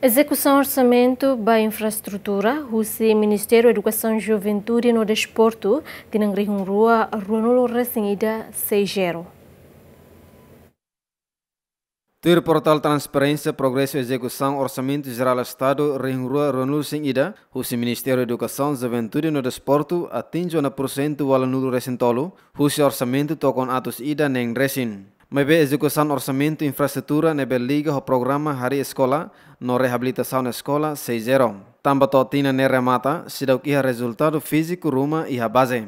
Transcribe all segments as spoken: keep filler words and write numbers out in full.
Ezekusaun orsamentu ba infraestrutura husi Ministériu Edukasaun, Juventude no Desportu, tinan rihun rua ruanulu resin ida, sei zero. Tuir portál Transparénsia, progresu ezekusaun Orsamentu Jerál Estadu rihun rua ruanulu resin ida husi Ministériu Edukasaun, Juventude no Desportu atinje ona pursentu ualunulu resin tolu husi orsamentu tokon atus ida neen resin. Maibé ezekusaun orsamentu infraestrutura ne'ebé liga ho programa harii eskola no reabilitasaun eskola sei zero. Tanba to'o tinan ne'e remata, seidauk iha rezultadu fíziku ruma iha baze.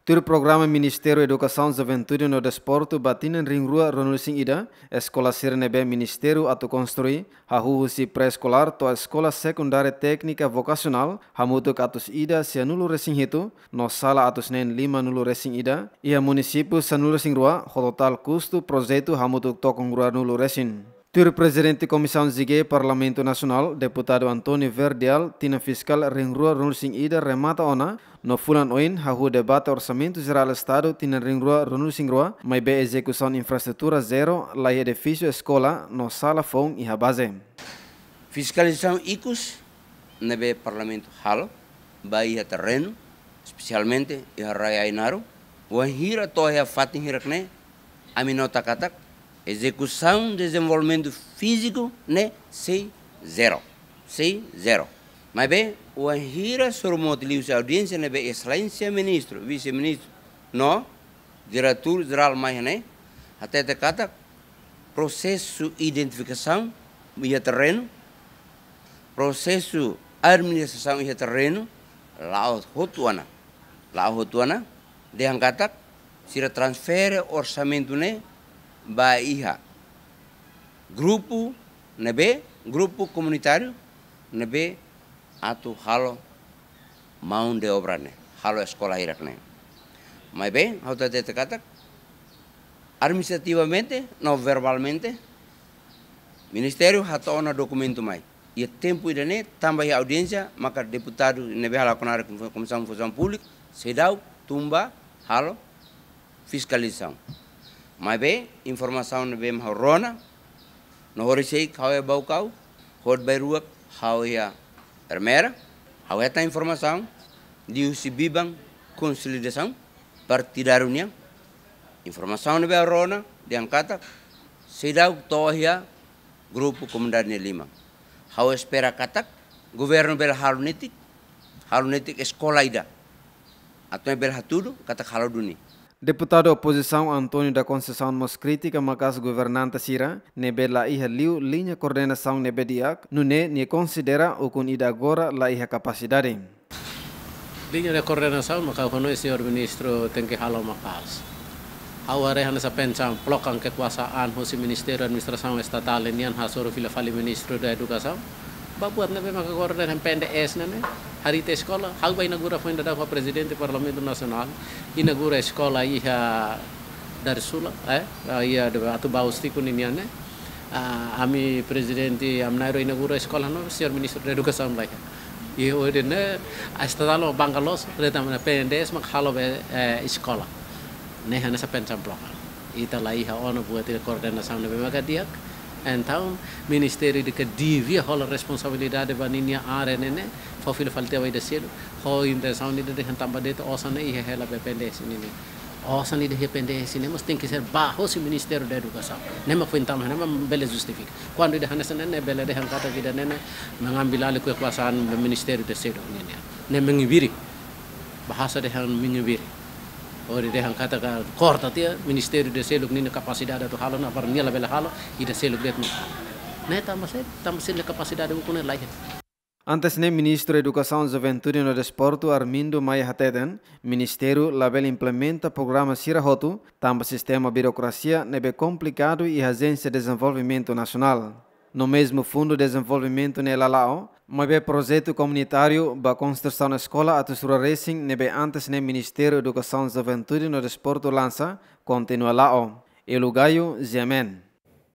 Tuir programa Ministériu Edukasaun, Juventude no Desportu ba tinan rihun rua ruanulu resin ida, eskola sira ne'ebé Ministériu atu konstrui, hahú husi pré-eskolár to'o eskola sekundária téknika vokasionál, hamutuk atus ida sianulu resin hitu, no sala atus neen limanulu resin ida, iha munisípiu sanulu resin rua, ho totál kustu projetu hamutuk tokon ruanulu resin. Tuir Prezidente Komisaun G Parlamentu Nasionál, Deputadu António Verdial, tinan fiskál rihun rua ruanulu resin ida remata ona, no fulan oin hahú debate Orsamentu Jerál Estadu tinan rihun rua ruanulu resin rua, maibé ezekusaun infraestrutura zero, laiha edifísiu eskola no sala foun iha baze. Fiskalizasaun ikus ne'ebé Parlamentu halo ba iha terrenu, espesialmente iha Rai Ainaro, wainhira to'o iha fatin hirak-ne'e, ami nota katak ezekusaun dezenvolvimentu fíziku ne'e sei zero, sei zero. Maibé, wainhira sorumutu liuhusi audiénsia ne'ebé Exelénsia Ministru, Vise-Ministru, no Diretór Jerál mai iha ne'e, hatete katak prosesu identifikasaun iha terrenu, prosesu administrasaun iha terrenu, la'o hotu ona, la'o hotu ona, dehan katak sira transfere orsamentu ne'e ba iha grupu ne'ebé, grupu komunitáriu ne'ebé atu halo mão de obra ne'e, halo eskola hirak-ne'e. Maibé, ha'u hatete katak, administrativamente, no verbalmente, Ministériu hato'o ona dokumentu mai. Iha tempu ida-ne'e, tanba iha audiénsia, maka deputadu ne'ebé halakon hare Komisaun Funsaun Públika, seidauk tun ba halo fiskalizasaun. Maibé, informasaun ne'ebé mak ha'u rona, no horisehik ha'u iha Baucau, hodi bairuak ha'u iha Ermera, ha'u hetan informasaun liuhusi biban konsolidasaun partidáriu nian. Informasaun ne'ebé ha'u rona, dehan katak seidauk to'o iha grupu komunidade nia liman. Ha'u espera katak governu bele halo netik, halo netik eskola ida. Atu bele hatudu katak halo duni. Deputadu opozisaun António da Conceição mós kritika maka'as governante sira ne'ebé la iha liu liña koordenasaun ne'ebé di'ak, nune'e nia konsidera ukun ida agora la iha kapasidade. Liña de koordenasaun maka ha'u hanoin señór ministru tenke halo maka'as. Ha'u haree hanesan pensaun plokan kekuasaan husi Ministériu Administrasaun Estatál nian hasoru fila fali Ministériu Edukasaun. Ba buat ne'ebé maka koordena PNDS ne'e, harii tiha eskola, ha'u bá inaugura foin daudaun ho Prezidente Parlamentu Nasionál, inaugura eskola iha Darussulam, eh, iha Atubaus Tico ninian ne'e. Ah, ami Prezidente Amnairo inaugura eskola no señór Ministru Edukasaun la iha. I hodi ne'e, estatál bangka loos, reta mana PNDS mak halo be, eh, eskola. Ne'e hanesan pensaun plokan. Ita la iha ona buat ida koordenasaun ne'ebé maka di'ak. Entaun, ministériu ida ke devia hola responsabilidade ba ninia área ne'e ne'e, fó fila fali tiha ba ida seluk, ho intensaun ida dehan tanba de'it osan ne'e iha hela be PNDS nian. Osan ida iha PNDS ne'e mós tenke ser bá hosi Ministériu Edukasaun. Ne'e mak foin tama, ne'e mak bele justifika. Kuandu ida hanesan ne'e, ne'e bele dehan katak ida ne'e, ne'e mengambil alih kekuasaan ministériu ida seluk nian. Ne'e mengibiri. Bahasa dehan mengibiri. Hodi dehan katak korta tiha ministériu ida seluk ninia kapasidade atu halo, no para nia labele halo, ida seluk de'it mak halo. Ne'e tanba sá, tanba sira-nia kapasidade ukun ne'e la iha. Antes ne'e, Ministru Edukasaun, Juventude no Desportu Armindo Maia hateten, ministériu labele implementa programa sira hotu, tanba sistema birokrasia ne'ebé komplikadu iha Ajénsia Dezenvolvimentu Nasionál. No mezmu Fundu Dezenvolvimentu ne'e la la'o, maibé projetu komunitáriu ba konstrusaun eskola atus rua resin ne'ebé antes ne'e Ministériu Edukasaun, Juventude no Desportu lansa, kontinua la'o. Elu Gayo, G M N.